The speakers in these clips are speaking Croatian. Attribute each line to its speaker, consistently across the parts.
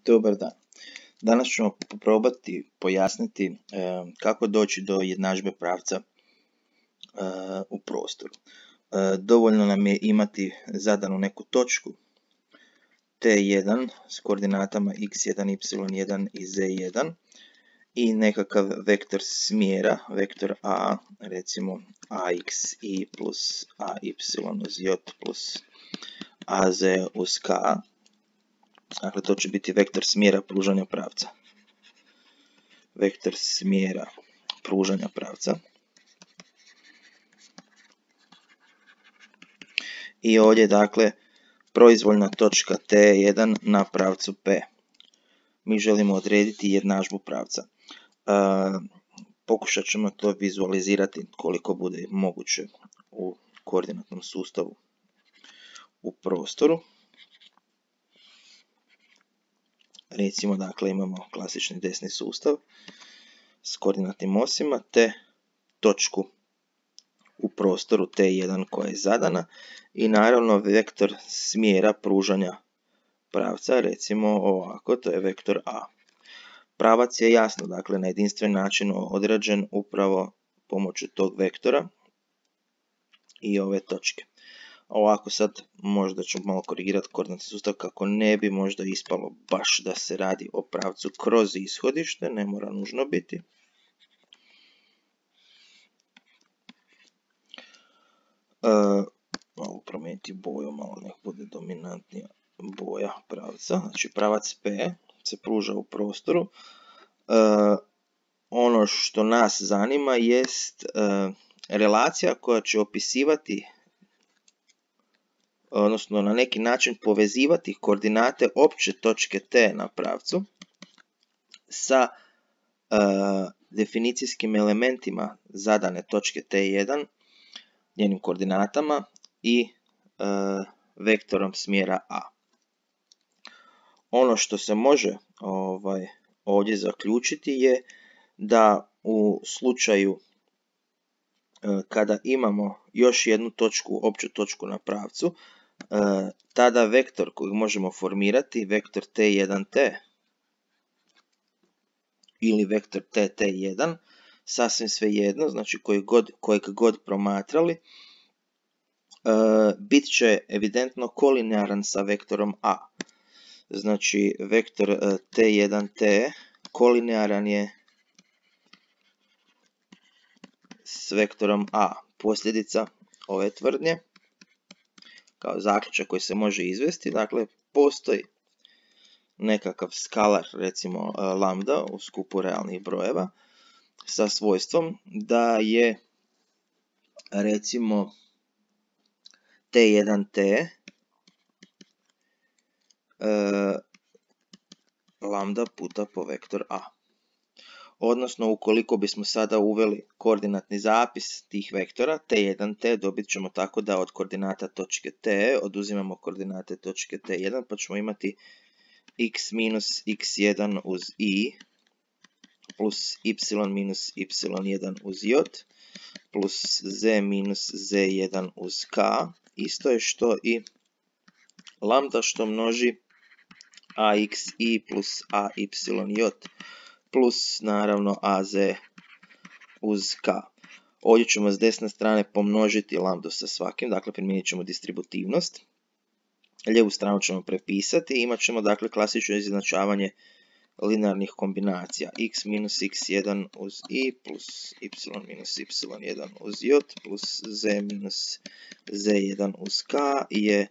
Speaker 1: Dobar dan. Danas ćemo probati pojasniti kako doći do jednadžbe pravca u prostoru. Dovoljno nam je imati zadanu neku točku T1 s koordinatama x1, y1 i z1 i nekakav vektor smjera, vektor a, recimo axi plus ay uz j plus az uz k. Dakle, to će biti vektor smjera pružanja pravca. Vektor smjera pružanja pravca. I ovdje, dakle, proizvoljna točka T1 na pravcu P. Mi želimo odrediti jednadžbu pravca. Pokušat ćemo to vizualizirati koliko bude moguće u koordinatnom sustavu u prostoru. Recimo, dakle, imamo klasični desni sustav s koordinatnim osima te točku u prostoru T1 koja je zadana i naravno vektor smjera pružanja pravca, recimo ovako, to je vektor A. Pravac je jasno, dakle, na jedinstven način određen upravo pomoću tog vektora i ove točke. Ovako sad možda ću malo korigirati koordinatni sustav kako ne bi možda ispalo baš da se radi o pravcu kroz ishodište, ne mora nužno biti. Malo promijeniti boju, malo nek bude dominantnija boja pravca. Znači pravac P se pruža u prostoru. Ono što nas zanima jest relacija koja će opisivati, odnosno na neki način povezivati koordinate opće točke T na pravcu sa definicijskim elementima zadane točke T1, njenim koordinatama i vektorom smjera A. Ono što se može ovdje zaključiti je da u slučaju kada imamo još jednu točku, opću točku na pravcu, tada vektor kojeg možemo formirati, vektor T1T ili vektor TT1, sasvim svejedno, znači kojeg god promatrali, bit će evidentno kolinearan sa vektorom A. Znači vektor T1T kolinearan je s vektorom A. Posljedica ove tvrdnje, kao zaključak koji se može izvesti, dakle postoji nekakav skalar, recimo lambda u skupu realnih brojeva sa svojstvom da je recimo T1T lambda puta po vektor A. Odnosno, ukoliko bismo sada uveli koordinatni zapis tih vektora, T1T dobit ćemo tako da od koordinata točke T oduzimamo koordinate točke T1, pa ćemo imati x minus x1 uz i plus y minus y1 uz j plus z minus z1 uz k. Isto je što i lambda što množi axi plus ayj plus naravno az uz k. Ovdje ćemo s desne strane pomnožiti lambdu sa svakim, dakle primijenit ćemo distributivnost. Lijevu stranu ćemo prepisati i imat ćemo dakle klasično izjednačavanje linearnih kombinacija x minus x1 uz i plus y minus y1 uz j plus z minus z1 uz k je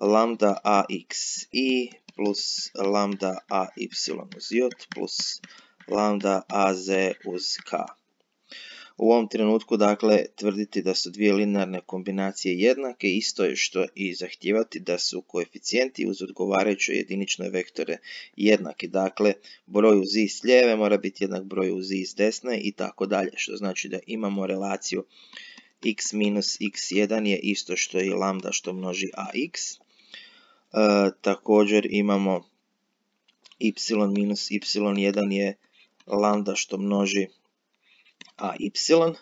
Speaker 1: lambda axi plus lambda ay uz j plus lambda az uz k. U ovom trenutku, dakle, tvrditi da su dvije linearne kombinacije jednake, isto je što i zahtijevati da su koeficijenti uz odgovarajuće jedinične vektore jednaki. Dakle, broj uz i s lijeve mora biti jednak broju uz i s desne i tako dalje, što znači da imamo relaciju x minus x1 je isto što i lambda što množi ax. Također imamo y minus y1 je lambda što množi ay,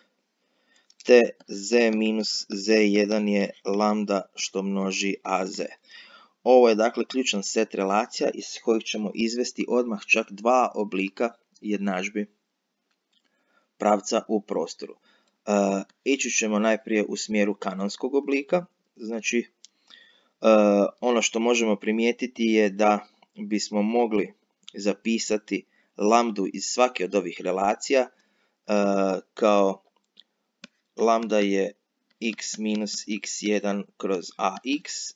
Speaker 1: te z minus z1 je lambda što množi az. Ovo je dakle ključan set relacija iz kojih ćemo izvesti odmah čak dva oblika jednadžbi pravca u prostoru. Ići ćemo najprije u smjeru kanonskog oblika. Znači, ono što možemo primijetiti je da bismo mogli zapisati lambdu iz svake od ovih relacija kao lambda je x minus x1 kroz ax,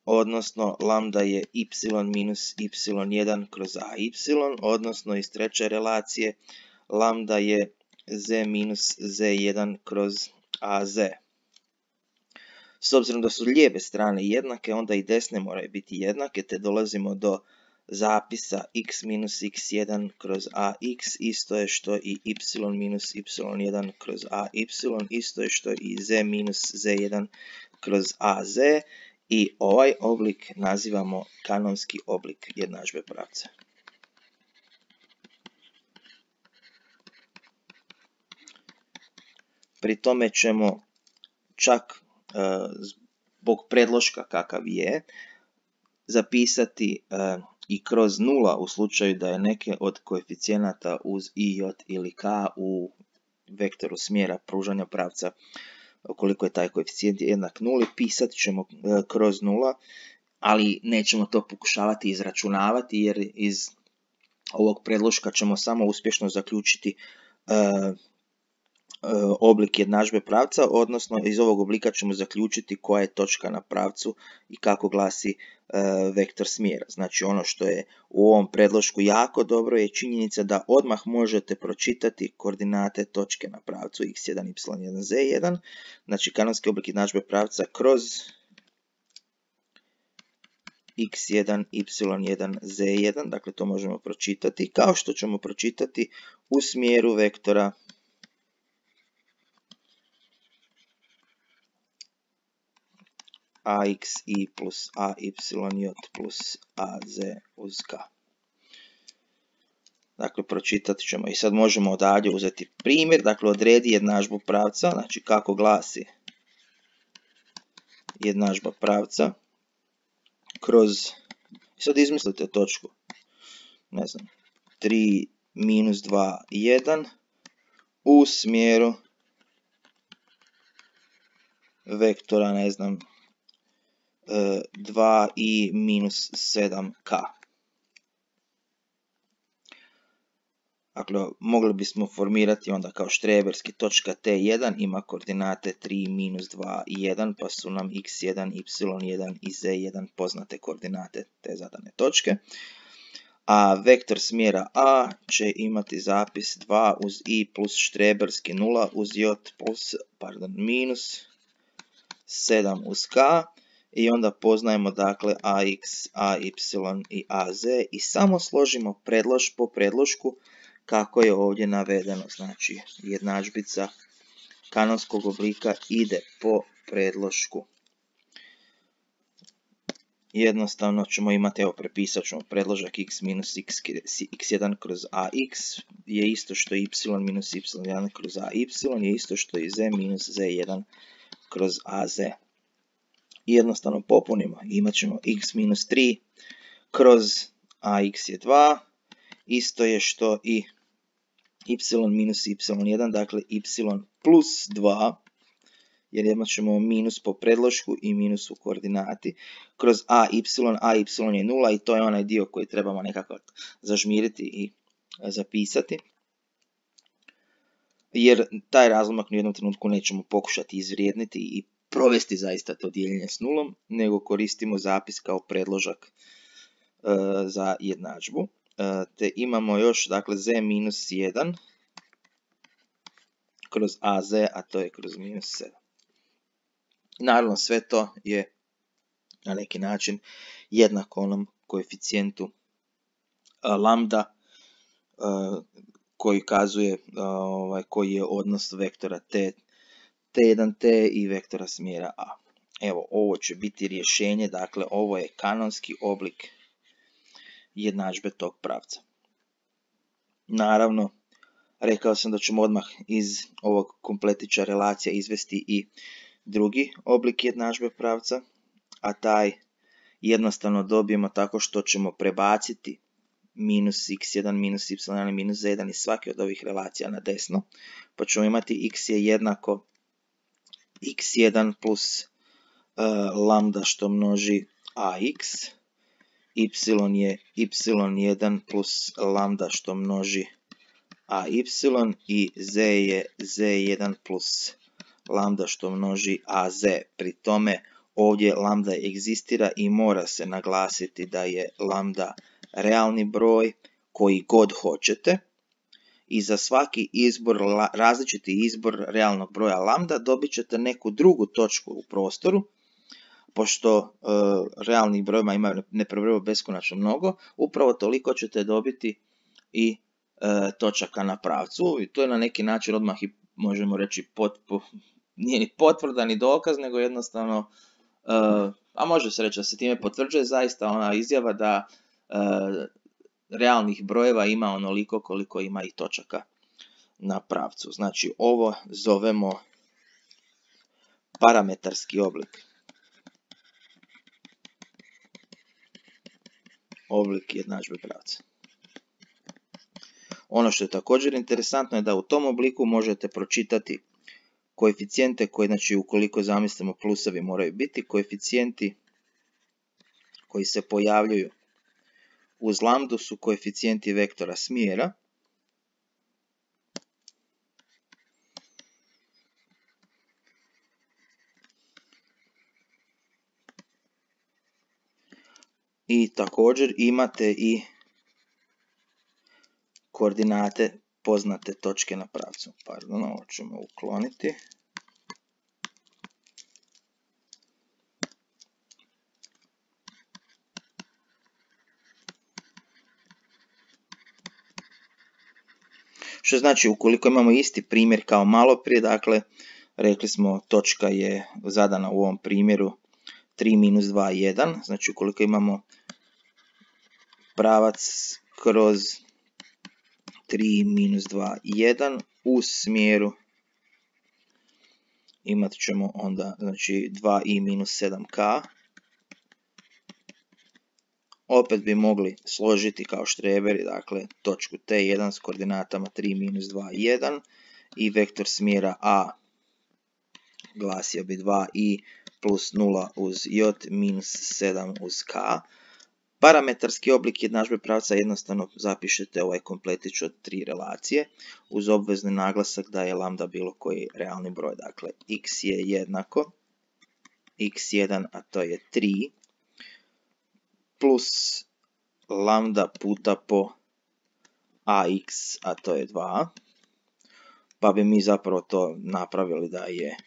Speaker 1: odnosno lambda je y minus y1 kroz ay, odnosno iz treće relacije lambda je z minus z1 kroz az. S obzirom da su lijeve strane jednake, onda i desne moraju biti jednake, te dolazimo do zapisa x minus x1 kroz ax isto je što i y minus y1 kroz ay, isto je što i z minus z1 kroz az, i ovaj oblik nazivamo kanonski oblik jednadžbe pravca. Pri tome ćemo čak zbog predloška kakav je zapisati i kroz nula u slučaju da je neke od koeficijenata uz i, j ili k u vektoru smjera pružanja pravca, ukoliko je taj koeficijent jednak nuli, pisat ćemo kroz nula, ali nećemo to pokušavati izračunavati jer iz ovog predloška ćemo samo uspješno zaključiti oblik jednadžbe pravca, odnosno iz ovog oblika ćemo zaključiti koja je točka na pravcu i kako glasi vektor smjera. Znači ono što je u ovom predlošku jako dobro je činjenica da odmah možete pročitati koordinate točke na pravcu x1, y1, z1, znači kanonski oblik jednadžbe pravca kroz x1, y1, z1, dakle to možemo pročitati, kao što ćemo pročitati u smjeru vektora axi plus ayj plus az uz k. Dakle, pročitat ćemo i sad možemo odavdje uzeti primjer, dakle odredi jednadžbu pravca, znači kako glasi jednadžba pravca kroz, sad izmislite točku, ne znam, 3, minus 2, 1 u smjeru vektora, ne znam, 2 i minus 7k. Dakle, mogli bismo formirati onda kao štreberski točka T1 ima koordinate 3, minus 2 i 1, pa su nam x1, y1 i z1 poznate koordinate te zadane točke. A vektor smjera A će imati zapis 2 uz i plus štreberski 0 uz j plus, minus 7 uz k. I onda poznajemo dakle ax, ay i az i samo složimo po predlošku kako je ovdje navedeno. Znači jednadžbica kanonskog oblika ide po predlošku. Jednostavno ćemo imati, evo prepisat ćemo predložak x minus x1 kroz ax je isto što y minus y1 kroz ay je isto što i z minus z1 kroz az. I jednostavno popunimo, imat ćemo x minus 3 kroz ax je 2, isto je što i y minus y1, dakle y plus 2, jer imat ćemo minus po predlošku i minus u koordinati, kroz ay je 0 i to je onaj dio koji trebamo nekako zažmiriti i zapisati. Jer taj razlomak u jednom trenutku nećemo pokušati izvrijedniti i provesti zaista to dijeljenje s nulom, nego koristimo zapis kao predložak za jednadžbu. Te imamo još, dakle, z minus 1 kroz az, a to je kroz minus 7. Naravno, sve to je na neki način jednako onom koeficijentu lambda koji kazuje koji je odnos vektora t1t i vektora smjera a. Evo, ovo će biti rješenje, dakle ovo je kanonski oblik jednadžbe tog pravca. Naravno, rekao sam da ćemo odmah iz ovog kompletića relacija izvesti i drugi oblik jednadžbe pravca, a taj jednostavno dobijemo tako što ćemo prebaciti minus x1, minus y1 i minus z1 iz svake od ovih relacija na desno, pa ćemo imati x je jednako x1 plus lambda što množi ax, y je y1 plus lambda što množi ay i z je z1 plus lambda što množi az. Pri tome ovdje lambda egzistira i mora se naglasiti da je lambda realni broj koji god hoćete i za svaki izbor, različiti izbor realnog broja lambda dobit ćete neku drugu točku u prostoru. Pošto realnih brojeva imaju neprovjerljivo beskonačno mnogo, upravo toliko ćete dobiti i točaka na pravcu. I to je na neki način odmah i možemo reći nije ni potvrda ni dokaz, nego jednostavno, a može se reći da se time potvrđuje zaista ona izjava da realnih brojeva ima onoliko koliko ima i točaka na pravcu. Znači ovo zovemo parametarski oblik. Oblik jednadžbe pravca. Ono što je također interesantno je da u tom obliku možete pročitati koeficijente koji, znači ukoliko zamislimo plusevi moraju biti, koeficijenti koji se pojavljuju uz lambdu su koeficijenti vektora smjera. I također imate i koordinate poznate točke na pravcu. Pardon, ovo ćemo ukloniti. Što znači, ukoliko imamo isti primjer kao malo prije, dakle, rekli smo točka je zadana u ovom primjeru 3 minus 2, 1. Znači, ukoliko imamo pravac kroz 3 minus 2, 1 u smjeru imat ćemo onda znači 2i minus 7k. Opet bi mogli složiti kao štreberi, dakle, točku T1 s koordinatama 3 minus 2, 1 i vektor smjera A glasio bi 2i plus 0 uz j minus 7 uz k. Parametarski oblik jednadžbe pravca jednostavno zapišete ovaj kompletić od 3 relacije uz obvezni naglasak da je lambda bilo koji realni broj. Dakle, x je jednako x1, a to je 3, plus lambda puta po ax, a to je 2. Pa bi mi zapravo to napravili da je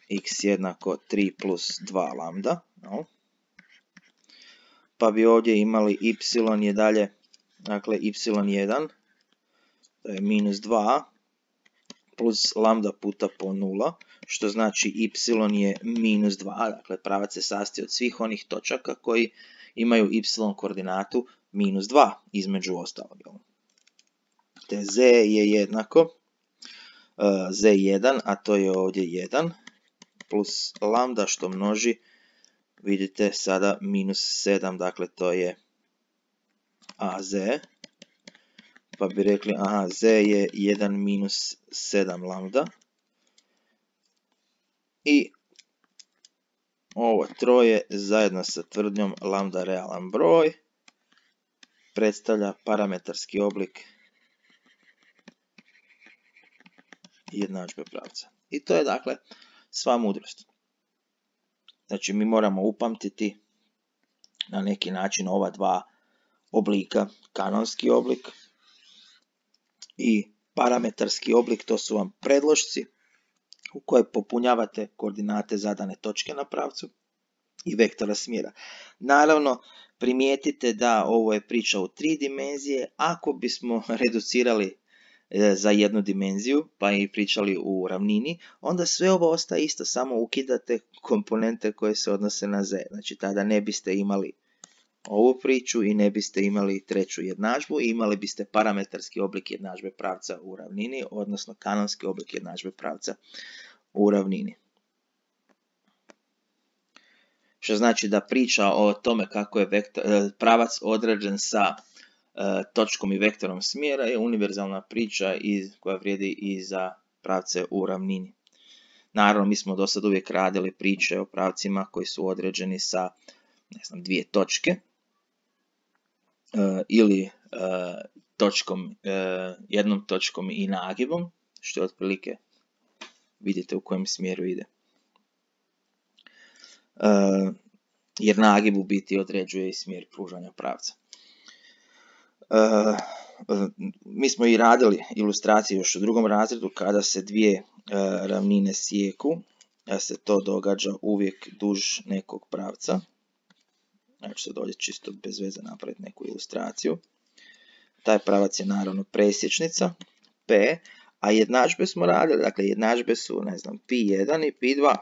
Speaker 1: x jednako 3 plus 2 lambda. No. Pa bi ovdje imali y je dalje, dakle y1, to je minus 2, plus lambda puta po 0, što znači y je minus 2, dakle pravac se sastoji od svih onih točaka koji imaju y koordinatu minus 2 između ostalog. Te z je jednako z1, a to je ovdje 1, plus lambda što množi, vidite sada minus 7, dakle to je az, pa bi rekli aha, z je 1 minus 7 lambda i ovo troje zajedno sa tvrdnjom lambda realan broj predstavlja parametarski oblik jednadžbe pravca. I to je dakle sva mudrost. Znači mi moramo upamtiti na neki način ova dva oblika, kanonski oblik i parametarski oblik, to su vam predlošci u koje popunjavate koordinate zadane točke na pravcu i vektora smjera. Naravno, primijetite da ovo je priča u 3 dimenzije. Ako bismo reducirali za jednu dimenziju, pa i pričali u ravnini, onda sve ovo ostaje isto, samo ukidate komponente koje se odnose na z. Znači, tada ne biste imali ovu priču i ne biste imali treću jednadžbu i imali biste parametarski oblik jednadžbe pravca u ravnini, odnosno kanonski oblik jednadžbe pravca u ravnini. što znači da priča o tome kako je pravac određen sa točkom i vektorom smjera je univerzalna priča koja vrijedi i za pravce u ravnini. Naravno, mi smo do sad uvijek radili priče o pravcima koji su određeni sa, ne znam, dvije točke ili jednom točkom i nagibom, što je otprilike vidite u kojem smjeru ide. Jer nagib u biti određuje i smjer pružanja pravca. Mi smo i radili ilustracije još u drugom razredu kada se dvije ravnine sijeku, da se to događa uvijek duž nekog pravca. Ja ću sad ovdje čisto bez veze napraviti neku ilustraciju. Taj pravac je naravno presječnica P, a jednadžbe smo radili, dakle jednadžbe su, ne znam, Pi1 i Pi2.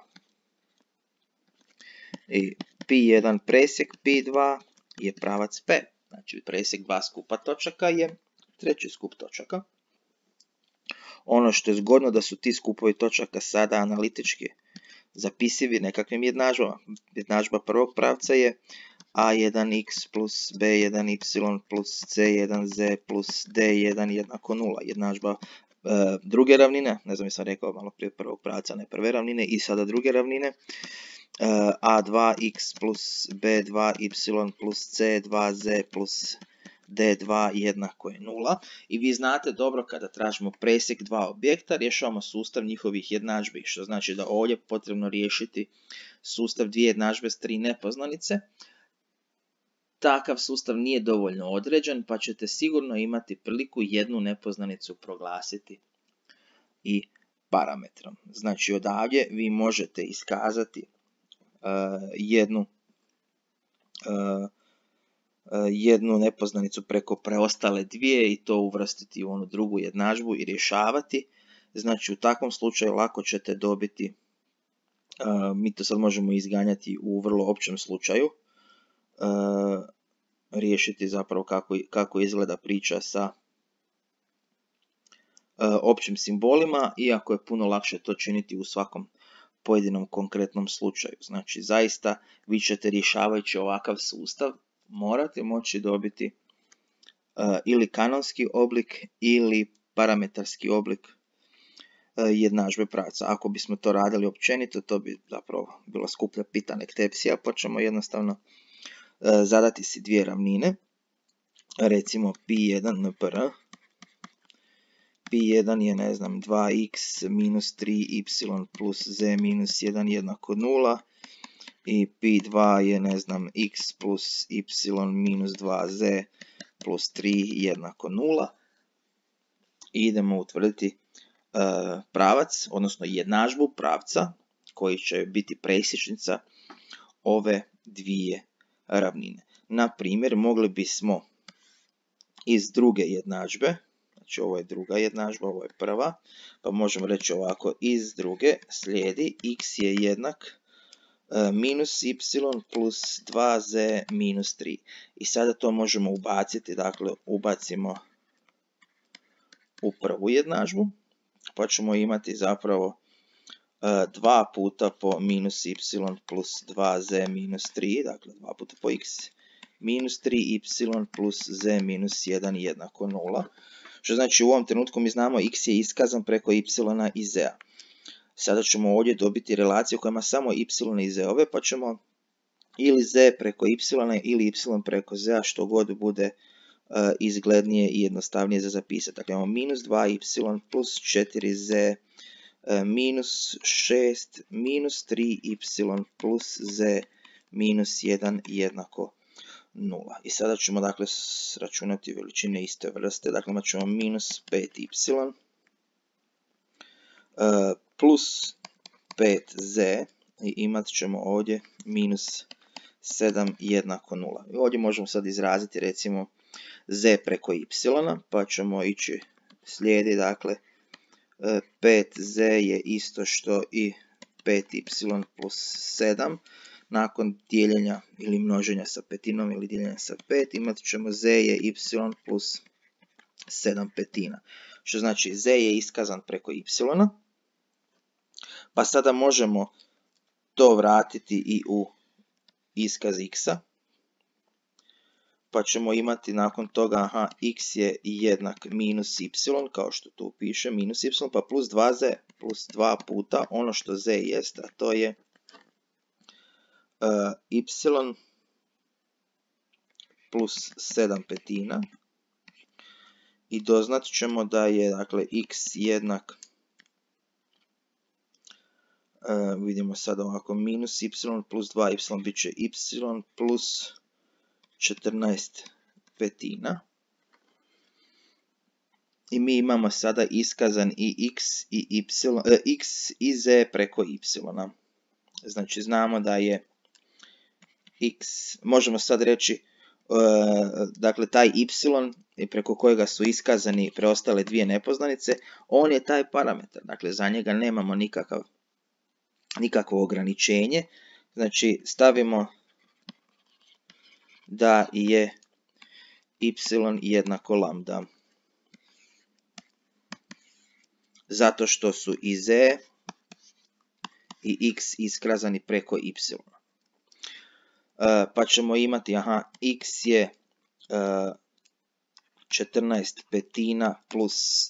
Speaker 1: I Pi1 presjek Pi2 je pravac P. Znači presjek dva skupa točaka je treći skup točaka. Ono što je zgodno da su ti skupovi točaka sada analitički zapisivi nekakvim jednadžbama. Jednadžba prvog pravca je A1x plus B1y plus C1z plus D1 jednako 0. Jednadžba druge ravnine, ne znam, sam rekao malo prije prvog pravca, ne prve ravnine, i sada druge ravnine. A2x plus B2y plus C2z plus D2 jednako je 0. I vi znate dobro kada tražimo presjek dva objekta, rješavamo sustav njihovih jednadžbi, što znači da ovdje je potrebno riješiti sustav dvije jednadžbe s tri nepoznanice. Takav sustav nije dovoljno određen, pa ćete sigurno imati priliku jednu nepoznanicu proglasiti i parametrom. Znači odavdje vi možete iskazati jednu nepoznanicu preko preostale dvije i to uvrstiti u onu drugu jednadžbu i rješavati. Znači u takvom slučaju lako ćete dobiti, mi to sad možemo izganjati u vrlo općem slučaju, riješiti zapravo kako izgleda priča sa općim simbolima, iako je puno lakše to činiti u svakom pojedinom konkretnom slučaju. Znači zaista vi ćete rješavajući ovakav sustav morate moći dobiti ili kanonski oblik ili parametarski oblik jednadžbe pravca. Ako bismo to radili općenito, to bi zapravo bila skuplja pitanektepsija, pa ćemo jednostavno zadati si dvije ravnine, recimo Pi1 npr. Pi1 je, ne znam, 2x minus 3y plus z minus 1 jednako 0 i Pi2 je, ne znam, x plus y minus 2z plus 3 jednako 0. I idemo utvrditi pravac, odnosno jednadžbu pravca koji će biti presječnica ove dvije ravnine. Na primjer, mogli bismo iz druge jednadžbe, znači ovo je druga jednadžba, ovo je prva, pa možemo reći ovako, iz druge slijedi x je jednak minus y plus 2z minus 3. I sada to možemo ubaciti, dakle ubacimo u prvu jednadžbu, pa ćemo imati zapravo 2 puta po minus y plus 2z minus 3, dakle 2 puta po x minus 3y plus z minus 1 jednako 0. Što znači u ovom trenutku mi znamo x je iskazan preko y i z-a. Sada ćemo ovdje dobiti relaciju koja ima samo y i z-ove, pa ćemo ili z preko y ili y preko z-a, što god bude izglednije i jednostavnije za zapisati. Dakle imamo minus 2y plus 4z minus 6 minus 3y plus z minus 1 jednako 0. I sada ćemo dakle sračunati veličine iste vrste. Dakle imat ćemo minus 5y plus 5z i imat ćemo ovdje minus 7 jednako 0. I ovdje možemo sad izraziti recimo z preko y, pa ćemo ići slijedi, dakle 5z je isto što i 5y plus 7. Nakon dijeljenja ili množenja sa petinom ili dijeljenja sa 5 imat ćemo z je y plus 7 petina. Što znači z je iskazan preko y. Pa sada možemo to vratiti i u iskaz x-a, pa ćemo imati nakon toga, x je jednak minus y, kao što tu piše, minus y, pa plus 2z, plus 2 puta ono što z jest, a to je y plus 7/5. I doznat ćemo da je, dakle, x jednak, vidimo sad ovako, minus y plus 2y bit će y plus 14/5. I mi imamo sada iskazan i x i y, x i z preko y. Znači znamo da je x, možemo sad reći, dakle taj y preko kojega su iskazani preostale dvije nepoznanice, on je taj parametar, dakle za njega nemamo nikakvo ograničenje, znači stavimo da je y jednako lambda, zato što su i z i x iskazani preko y. Pa ćemo imati, x je 14/5 plus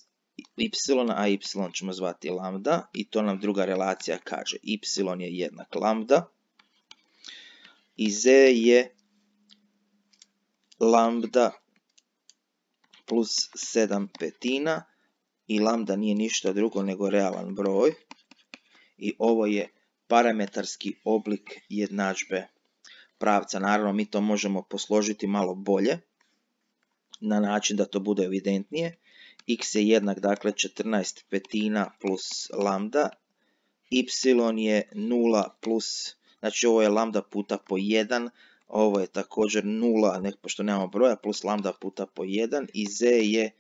Speaker 1: y, a y ćemo zvati lambda, i to nam druga relacija kaže, y je jednak lambda, i z je lambda plus 7/5, i lambda nije ništa drugo nego realan broj, i ovo je parametarski oblik jednadžbe pravca. Naravno, mi to možemo posložiti malo bolje, na način da to bude evidentnije. X je jednak, dakle, 14/5 plus lambda, y je 0 plus, znači ovo je lambda puta po 1, ovo je također 0, pošto nemamo broja, plus lambda puta po 1, i z je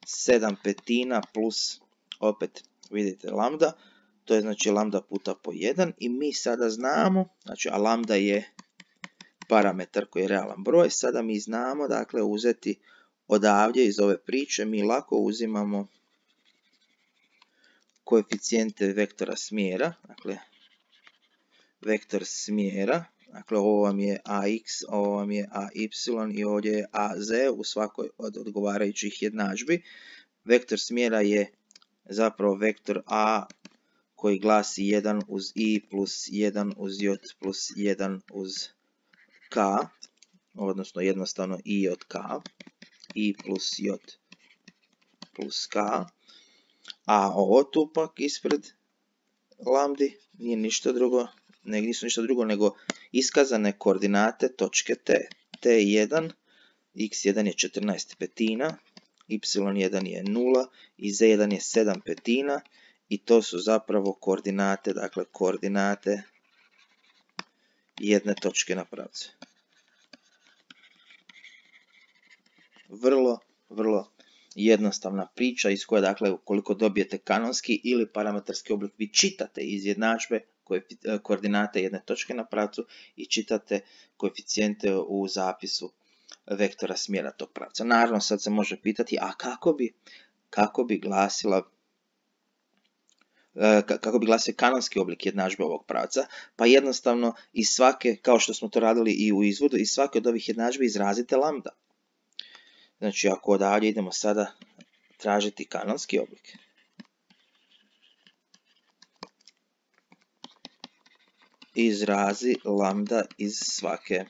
Speaker 1: 7/5 plus, opet vidite, lambda, to je znači lambda puta po 1, i mi sada znamo, znači, a lambda je parametar koji je realan broj, sada mi znamo, dakle, uzeti odavdje iz ove priče, mi lako uzimamo koeficijente vektora smjera, dakle, vektor smjera, dakle, ovo vam je ax, ovo vam je ay i ovdje je az u svakoj od odgovarajućih jednadžbi. Vektor smjera je zapravo vektor a koji glasi 1 uz i plus 1 uz j plus 1 uz k, odnosno jednostavno i od k, i plus j plus k, a ovo tu pak ispred lambdi nisu ništa drugo nego iskazane koordinate točke t. t1, x1 je 14/5, y1 je 0 i z1 je 7/5, i to su zapravo koordinate, dakle koordinate jedne točke na pravcu. Vrlo jednostavna priča iz koje, dakle, ukoliko dobijete kanonski ili parametarski oblik, vi čitate iz jednadžbe koordinate jedne točke na pravcu i čitate koeficijente u zapisu vektora smjera tog pravca. Naravno, sad se može pitati, a kako bi glasio kanonski oblik jednadžbe ovog pravca? Pa jednostavno iz svake, kao što smo to radili i u izvodu, iz svake od ovih jednadžbi izrazite lambda. Znači, ako odavdje idemo sada tražiti kanonski oblik, izrazi lambda iz svake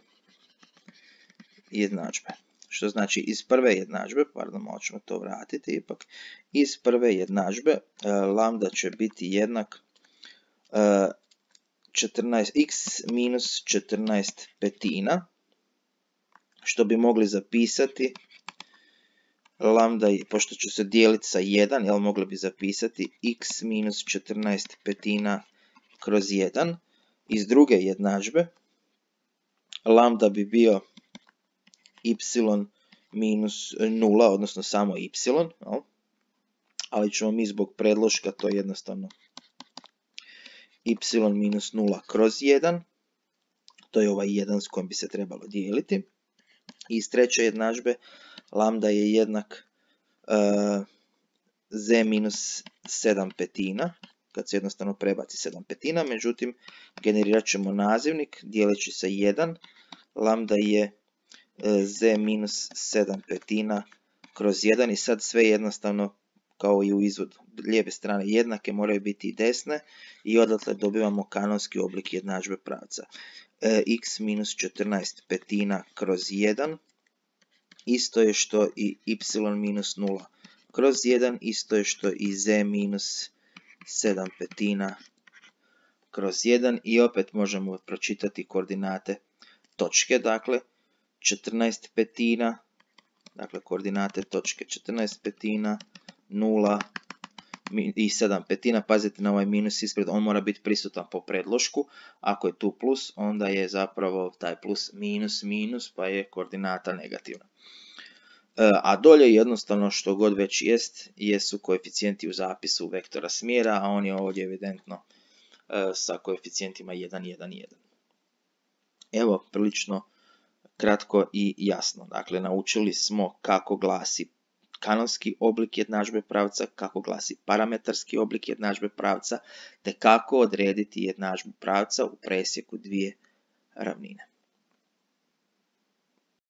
Speaker 1: jednadžbe. Što znači iz prve jednadžbe, pardon, malo ćemo to vratiti ipak, iz prve jednadžbe lambda će biti jednak x minus 14/5, što bi mogli zapisati lambda, pošto će se dijeliti sa 1, mogli bi zapisati x minus 14/5 kroz 1. Iz druge jednadžbe lambda bi bio y minus 0, odnosno samo y, ali ćemo mi zbog predloška to jednostavno y minus 0 kroz 1, to je ovaj 1 s kojim bi se trebalo dijeliti. I iz treće jednadžbe lambda je jednak z minus 7/5, kad se jednostavno prebaci 7/5, međutim generirat ćemo nazivnik dijeleći sa 1, lambda je z minus 7/5 kroz 1 i sad sve jednostavno kao i u izvodu. Lijeve strane jednake moraju biti i desne i odatle dobivamo kanonski oblik jednadžbe pravca. X minus 14/5 kroz 1 isto je što i y minus 0 kroz 1, isto je što i z minus 7/5 kroz 1 i opet možemo pročitati koordinate točke, dakle 14/5, dakle koordinate točke 14/5, 0 i 7/5, pazite na ovaj minus ispred, on mora biti prisutan po predlošku, ako je tu plus, onda je zapravo taj plus minus minus, pa je koordinata negativna. A dolje jednostavno što god već jest, jesu koeficijenti u zapisu vektora smjera, a on je ovdje evidentno sa koeficijentima 1, 1, 1. Evo, prilično kratko i jasno. Dakle, naučili smo kako glasi kanonski oblik jednadžbe pravca, kako glasi parametarski oblik jednadžbe pravca, te kako odrediti jednadžbu pravca u presjeku dvije ravnine.